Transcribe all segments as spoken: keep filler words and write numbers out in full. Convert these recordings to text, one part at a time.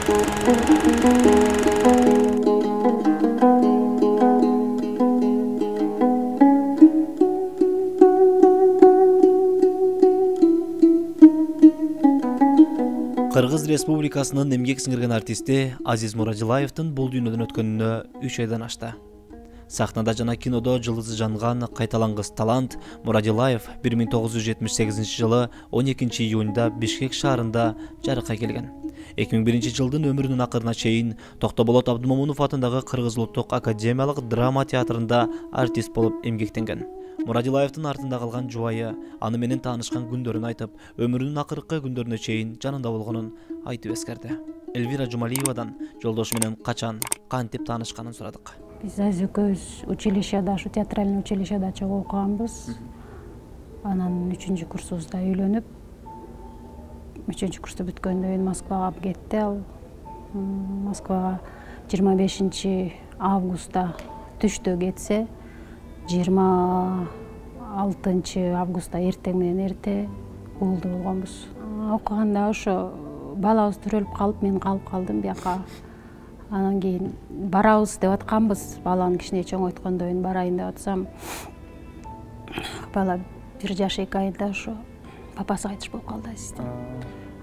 Кыргыз Республикасынын эмгек сиңирген артисти Азиз Мурадилаевдин бул дүйнөдөн өткөнүнө үч айдан ашты. Сахнада жана кинодо жылдызы жанган кайталангыс талант Мурадилаев бир миң тогуз жүз жетимиш сегизинчи жылы он экинчи июнда Бишкек шаарында жарыкка келген. эки миң биринчи жылдын өмүрүнүн акырына чейин Токтоболот Абдымомунов атындагы Кыргыз Улуттук академиялык драма театрында артист болуп эмгектенген. Мурадилаевдин артында калган жубайы аны менен таанышкан күндөрүн айтып, өмүрүнүн акыркы күндөрүнө чейин жанында болгонун айтып эскерди. Элвира Жумалиевадан жолдошу менен качан, кантип таанышканын сурадык. Биз Азиз экөөбүз училищеда, ушу театральный училищеда чогуу окуганбыз. Анан үчүнчү курсубузда үйлөнүп, үчүнчү курсту бүткөндөн кийин Москвага кетти ал. Москвага жыйырма бешинчи августта түштө кетсе, жыйырма алтынчы августта эртең менен эрте уулду болгонбуз. Окуганда ошо балабыз төрөлүп калып, мен калып калдым бияка. Анан кийин барабыз деп атканбыз. Баланы кичине чоңойткондон кийин барайын деп атсам, бала бир жаш эки айда ошо папасы кайтыш болуп калды Азизде.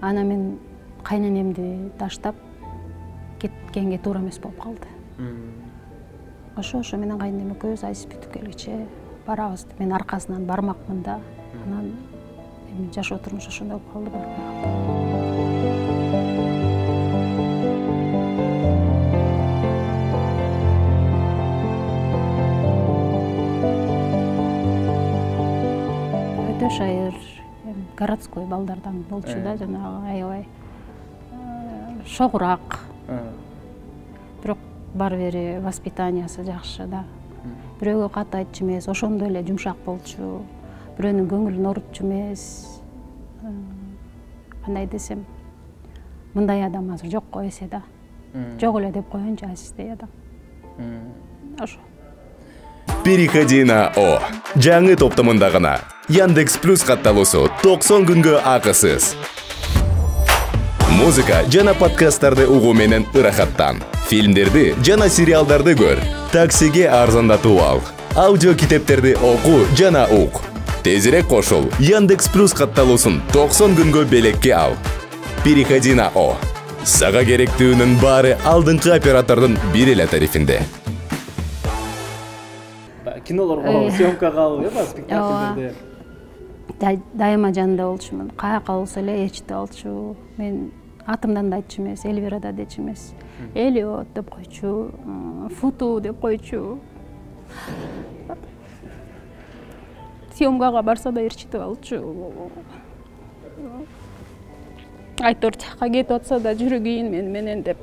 Анан мен кайненемди таштап кеткенге туура эмес болуп калды. Ошо ошо менен кайненем экөөбүз Азиз бүтүп келгиче барабыз. Мен аркасынан бармакмын да. Анан эми жашоо турмуш ошондой болуп калды. Өтө шайыр, городской балдардан болчу да, жанагы аябай шогурак. Бирок бар бери воспитаниясы жакшы да. Бирөөгө кат айтчу эмес, ошондой эле жумшак болчу. Бирөөнүн көңүлүн орутчу эмес. Кандай десем, мындай адам азыр жок го эсе да. Жок эле деп коеюнчу Азиздей адам. Ошо. Переходи на О. Жаңы топтомунда гана Яндекс Плюс катталуусу токсон күнгө акысыз. Музыка жана подкасттарды угуу менен ырахаттан. Фильмдерди жана сериалдарды көр. Таксиге арзандатып ал. Аудио китептерди оку жана ук. Тезирээк кошул. Яндекс Плюс катталуусун токсон күнгө белекке ал. Переходи на О. Сага керектүүнүн баары алдыңкы оператордун бир эле тарифинде. Кинолорго съемкага алып, э, спектакльдерде. Дайыма жанында болчумун. Каяка болсо эле ээрчитип алчу. Мен атымдан да айтчу эмес, Элвира да дечү эмес. Элиот деп койчу, Футу деп койчу. Съемкага барса да ээрчитип алчу. Айтор жакка кетип атса да жүрүгүйүн мен менен деп.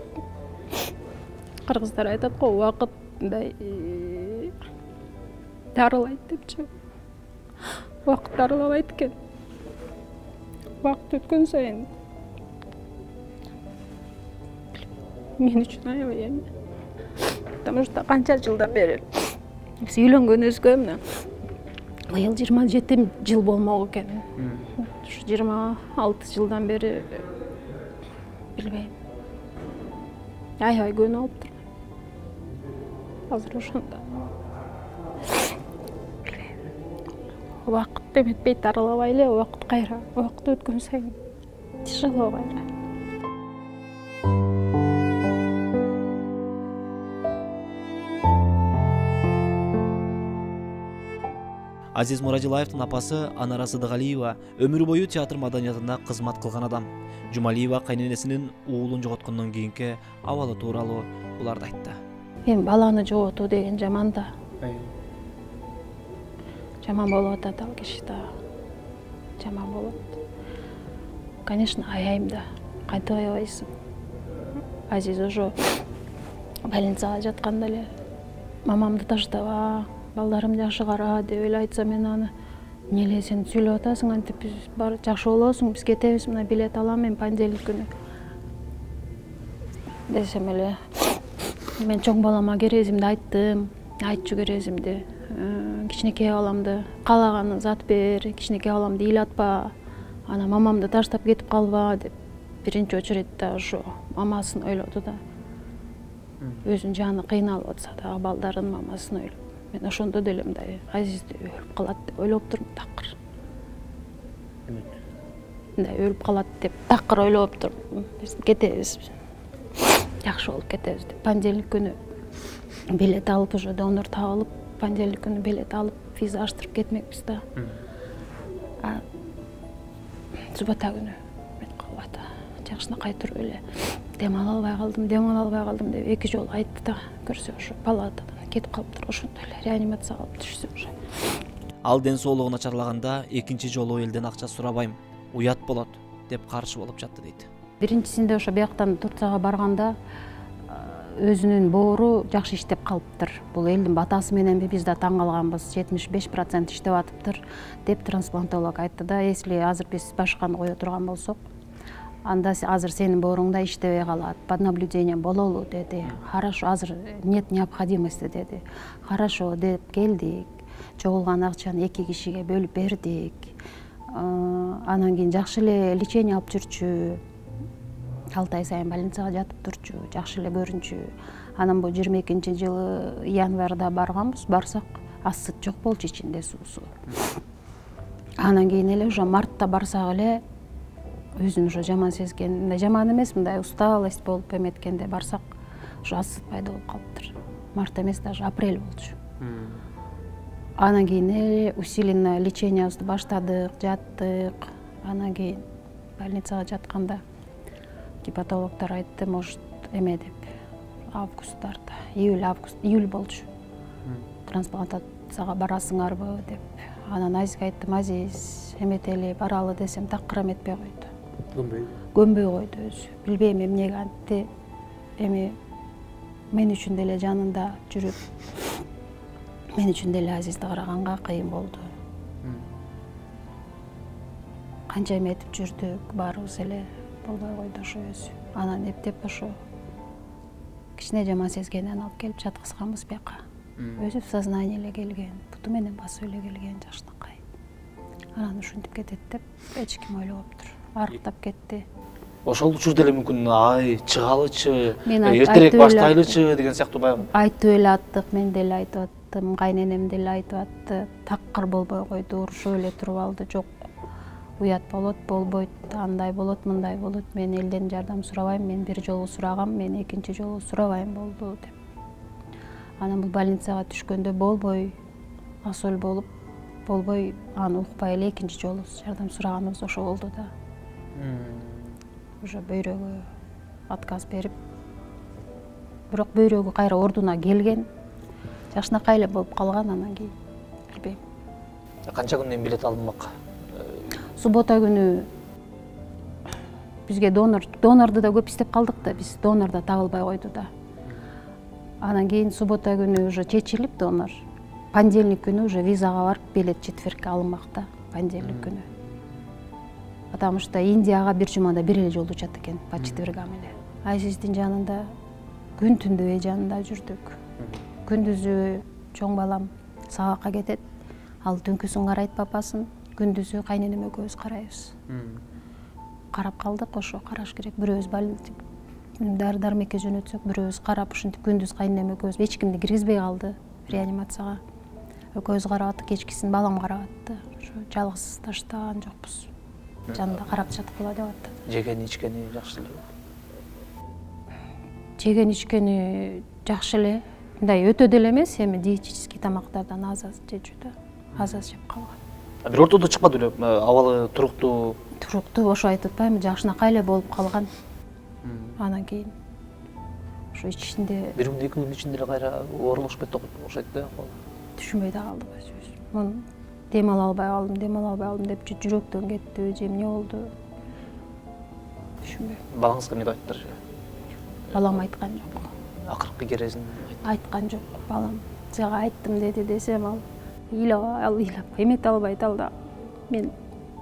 Кыргыздар айтат го, убакыт мындай дарылайт депчи. Убакыт дарылабайт экен. Убакыт өткөн сайын мен үчүн аябай эми. Потому что канча жылдан бери биз үйлөнгөнүбүзгө мына быйыл жыйырма жети жыл болмок экен. Ушу жыйырма алты жылдан бери билбейм. Аябай көнүп алыптыр. Азыр ошондо. Убакыт эметпейт, дарылабай эле, убакыт кайра. Убакыт өткөн сайын тяжело кайра. Азиз Мурадилаевдин апасы Анара Сыдыгалиева өмүр бою театр маданиятында кызмат кылган адам. Жумалиева кайненесинин уулун жоготкондон кийинки абалы тууралуу буларды айтты. Эми баланы жоготуу деген жаман да. Жаман болуп атат ал кишиде. Жаман болот. Конечно, аяйм да. Кантип аябайсың. Азиз ошо больницага жатканда эле мамамды таштаба, балдарым жакшы кара деп эле айтса, мен аны эмне сен сүйлөп атасың, антип биз бар жакшы болосуң, биз кетебиз, мына билет алам мен понедельник күнү. Десем эле мен чоң балама керезимди айттым, айтчу керезимди. Кичинекей баламды каалаган зат бер, кичинекей баламды ыйлатпа, ана мамамды таштап кетип калба деп биринчи очередде ошо мамасын ойлоду да. Өзүнүн жаны кыйналып атса да, балдарынын мамасын ойлоп. Мен ошондо деле мындай Азизди өлүп калат деп ойлоп турмун такыр. Мындай өлүп калат деп такыр ойлоп турмун. Биз кетебиз. Жакшы болуп кетебиз деп. Понедельник күнү билет алып, уже донор табылып, понедельник күнү билет алып, виза аштырып кетмекпиз да. А суббота күнү жакшынакай туруп эле дем ала албай калдым, дем ала албай калдым деп эки жолу айтты да. Көрсө ошо палатадан кетип калыптыр, ошондо эле реанимацияга алып түшсө уже. Ал ден соолугу начарлаганда экинчи жолу элден акча сурабайм, уят болот деп каршы болуп жатты дейт. Биринчисинде ошо бияктан Турцияга барганда өзүнүн боору жакшы иштеп калыптыр. Бул элдин батасы мененби биз да таң калганбыз. жетимиш беш процент иштеп атыптыр деп трансплантолог айтты да. Если азыр биз башканы кое турган болсок, анда азыр сенин бооруңда иштебей калат, под наблюдением бололу деди. Хорошо, азыр нет необходимости деди. Хорошо деп келдик. Чогулган акчаны эки кишиге бөлүп бердик. Анан кийин жакшы эле лечение алып жүрчү. алты ай сайын больницага жатып турчу, жакшы эле көрүнчү. Анан бул жыйырма экинчи жылы январда барганбыз, барсак асыт жок болчу ичинде суусу. Анан кийин эле уже мартта барсак эле өзүн уже жаман сезген, мындай жаман эмес, мындай усталость болуп эметкенде барсак, уже асыт пайда болуп калыптыр. Март эмес, даже апрель болчу. Анан кийин эле усиленное лечениябызды баштадык, жаттык. Анан кийин больницага жатканда гепатологдор айтты, может, эме деп, августтарда, июль, август, июль болчу. Трансплантацияга барасыңарбы деп. Анан Азизге айттым, Азиз, эметели баралы десем, такыр эметпей койду. Көнбөй. Көнбөй койду өзү. Билбейм эмнеге антты. Эми мен үчүн деле жанында жүрүп, мен үчүн деле Азизди караганга кыйын болду. Канча эметип жүрдүк, баарыбыз эле болбой койду ошо өзү. Анан эптеп ошо кичине жаман сезгенден алып келип жаткызганбыз бияка. Өзү в сознание эле келген, буту менен басып эле келген жакшынакай. Анан ушинтип кетет деп эч ким ойлогоптур. Арыктап кетти. Ошол учурда эле мүмкүн ай чыгалычы, эртерээк баштайлычы деген сыяктуу баягы. Айтып эле аттык, мен деле айтып аттым, кайненем деле айтып атты. Такыр болбой койду, урушуп эле туруп алды. Жок, уят болот, болбойт, андай болот, мындай болот. Мен элден жардам сурабайм, мен бир жолу сурагам, мен экинчи жолу сурабайм болду деп. Анан бул больницага түшкөндө болбой, асөл болуп, болбой, аны укпай эле экинчи жолу жардам сураганыбыз ошо болду да. Уже бөйрөгү отказ берип, бирок бөйрөгү кайра ордуна келген, жакшынакай эле болуп калган. Анан кийин билбейм. Канча күндөн билет алынмак? Суббота күнү бизге донор, донорду да көп издеп калдык да, биз донор да табылбай койду да. Анан кийин суббота күнү уже чечилип донор. Понедельник күнү уже визага барып билет четвергке алынмак да, понедельник күнү. Потому что Индияга бир жумада бир эле жолу учат экен, по четвергам эле. Азиздин жанында күн түндү жанында жүрдүк. Күндүзү чоң балам сабакка кетет, ал түнкүсүн карайт папасын, күндүзү кайненем экөөбүз карайбыз. Карап калдык, ошо караш керек. Бирөөбүз больница дары-дармекке жөнөтсөк, бирөөбүз карап, ушинтип күндүз кайненем экөөбүз эч кимди киргизбей калды реанимацияга. Экөөбүз карап аттык, кечкисин балам карап атты. Ошо жалгыз таштаган жокпуз. Жанында карап жаткыла деп атты. Жеген ичкени жакшы эле. Жеген ичкени жакшы эле. Мындай өтө деле эмес, эми диетический тамактардан аз аз жечү да. Аз аз жеп калган. Бир ортодо чыкпады эле, абалы туруктуу. Туруктуу, ошо айтып атпаймынбы, жакшынакай эле болуп калган. Анан кийин ошо ичинде бир күн эки күн ичинде эле кайра оорулушуп кетти окшойт да. Түшүнбөй да калдык өзүбүз. Мун дем ала албай калдым, дем ала албай калдым деп жүрөктөн кетти, же эмне болду? Түшүнбөйм. Балаңызга эмне айттыр? Балам айткан жок. Акыркы кересин айткан жок. Балам сага айттым деди десем, ал ыйлап, ал ыйлап эмете албай да. Мен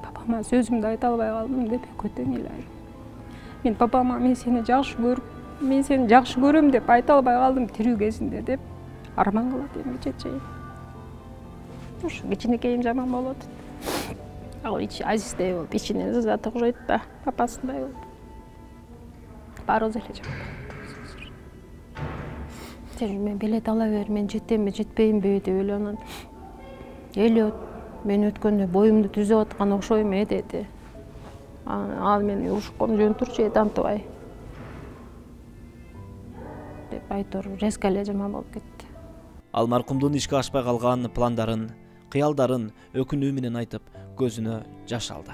папама сөзүмдү айта албай калдым деп көтөң ыйлайт. Мен папама мен сени жакшы көрүп, мен сени жакшы көрөм деп айта албай калдым тирүү кезинде деп арман кылат эми чечейим. Ошо кичинекейим жаман болот. Ал ич Азиздей болуп, ичинен зат окшойт да, папасындай болуп. барыбыз эле жок. Мен билет ала бер, мен жетемби, жетпеймби деп эле анан Элиот мен өткөндө боюмду түзөп аткан окшойм э деди. Ал мени ушком жөн турчу тантыбай деп айтор резко эле жаман болуп кетти. Ал маркумдун ишке ашпай калган пландарын, кыялдарын өкүнүү менен айтып, көзүнө жаш алды.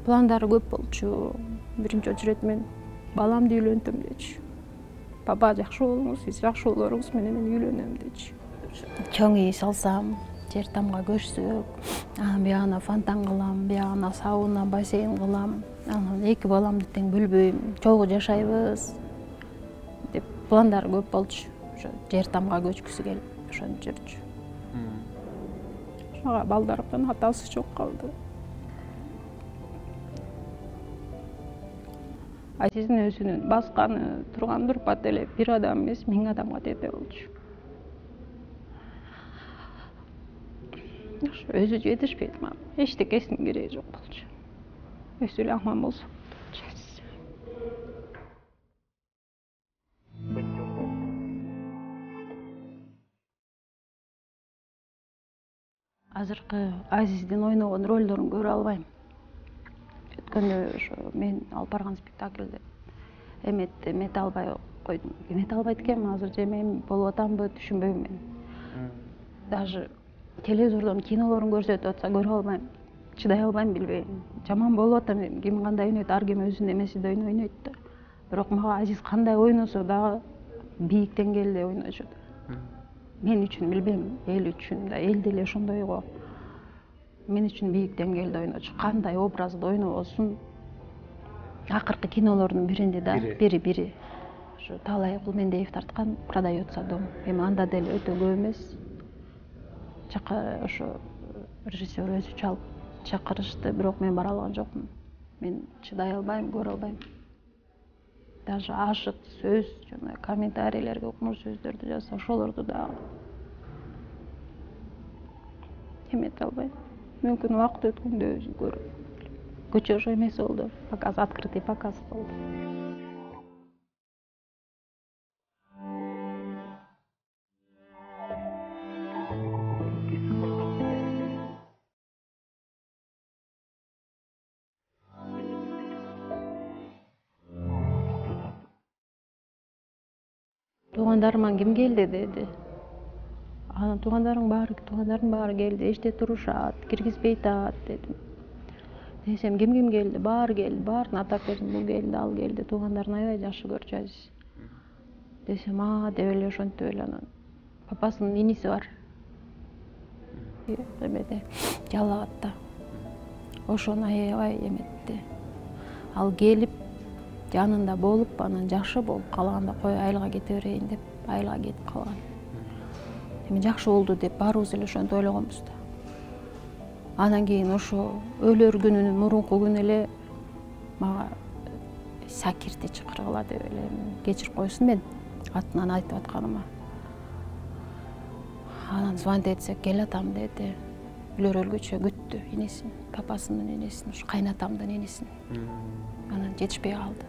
Пландары көп болчу. Биринчи очередь мен баламды үйлөнтөм дечи. Папа жакшы болуңуз, сиз жакшы болоруңуз менен мен үйлөнөм дечи. Чоң үй салсам, жер тамга көчсөк, анан биягына фонтан кылам, биягына сауна, бассейн кылам. Анан эки баламды тең бөлбөйм, чогуу жашайбыз деп пландары көп болчу. Ошо жер тамга көчкүсү келип ошентип жүрчү. Ошого балдарымдын атасы жок калды. Азиздин өзүнүн басканы, турган турпат эле бир адам эмес, миң адамга тете болчу. Ошо өзү жетишпейт мага. Эчтекесинин кереги жок болчу. Өзү эле аман болсо. Азыркы Азиздин ойногон ролдорун көрө албайм. Өткөндө ошо мен алып барган спектакльде эметти эмете албай койдум. Эмете албайт экенмин азыр же мен болуп атамбы түшүнбөйм мен. Даже телевизордон кинолорун көрсөтүп атса көрө албайм. Чыдай албайм, билбейм. Жаман болуп атам эми. Ким кандай ойнойт, ар ким өзүнүн эмесиде ойнойт да. Бирок мага Азиз кандай ойносо дагы бийик деңгээлде ойночу. Мен үчүн билбейм, эл үчүн да, эл деле ошондой го. Мен үчүн бийик деңгээлде ойночу. Кандай образды ойнобосун. Акыркы кинолордун биринде да, бири бири. Ошо Таалай Кулмендиев тарткан «Продается дом». Эми анда деле өтө көп эмес. Чака ошо режиссер өзү чалып чакырышты, бирок мен бара алган жокмун. Мен чыдай албайм, көрө албайм. Даже ашык сөз, жана комментарийлерге укмуш сөздөрдү жазса, ошолорду дагы эмете албайм. Мүмкүн убакыт өткөндө өзү көрүп. Көчө ошо эмес болду. Показ, открытый показ болду. Туугандарыман ким келди деди. Анан туугандарың баары, туугандарым баары келди, эчте турушат, киргизбей атат дедим. Десем, ким ким келди? Баары келди, баарын атап бердим. Бул келди, ал келди, туугандарын аябай жакшы көрчү Азиз. Десем, а деп эле ошентип эле анан папасынын иниси бар. Эмеде, Жалал Абадта. Ошону аябай эметти. Ал келип жанында болуп, анан жакшы болуп калганда кой айылга кете берейин деп, айылга кетип калган. Эми жакшы болду деп баарыбыз эле ошентип ойлогонбуз да. Анан кийин ошо өлөр күнүнүн мурунку күнү эле мага Сакирди чакыргыла деп эле кечирип койсун мен атынан айтып атканыма. Анан звонить этсек кел атам деди. Үлөр өлгүчө күттү инесин, папасынын инесин, ушу кайнатамдын инесин. Анан жетишпей калды.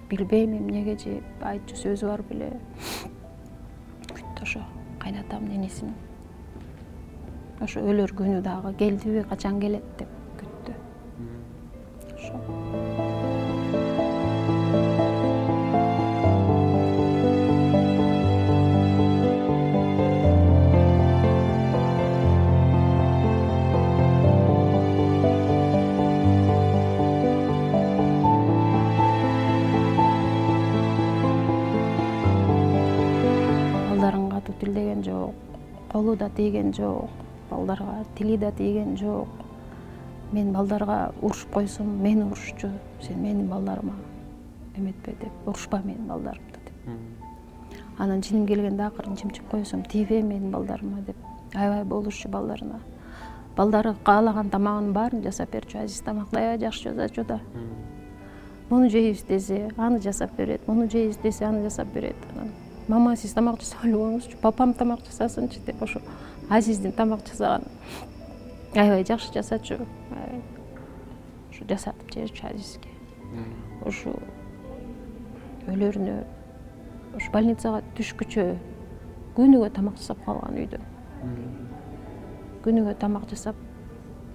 Билбейм эмнеге же айтчу сөзү бар беле. Күттү ошо кайнатамдын инесин. Ошо өлөр күнү дагы келдиби, качан келет деп күттү. Ошо. Балдарын катуу тилдеген жок, колу да тийген жок. Балдарга тили да тийген жок. Мен балдарга урушуп койсом, мени урушчу. Сен менин балдарыма эметпе деп, урушпа менин балдарымды деп. Анан жиним келгенде акырын чимчип койсом, тийбе менин балдарыма деп, аябай болушчу балдарына. Балдары каалаган тамагынын баарын жасап берчү. Азиз тамакты аябай жакшы жасачу да. Муну жейбиз десе, аны жасап берет. Муну жейбиз десе, аны жасап берет. Мама, сиз тамак жасап койгуңузчу, папам тамак жасасынчы деп ошо Азиздин тамак жасаган аябай жакшы жасачу. Ошо жасатып жиберчү Азизге. ушу өлөрүнө ушу больницага түшкүчө күнүгө тамак жасап калган үйдө. Күнүгө тамак жасап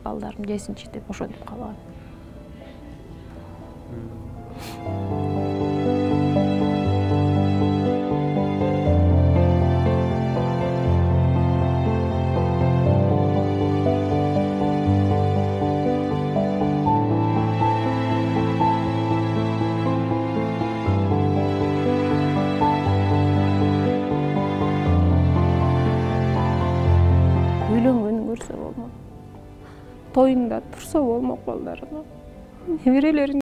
балдарым жесинчи деп ошентип калган. Үйлөнгөнүн көрсө болмок. Тоюнда турса болмок балдарына. Неберелерин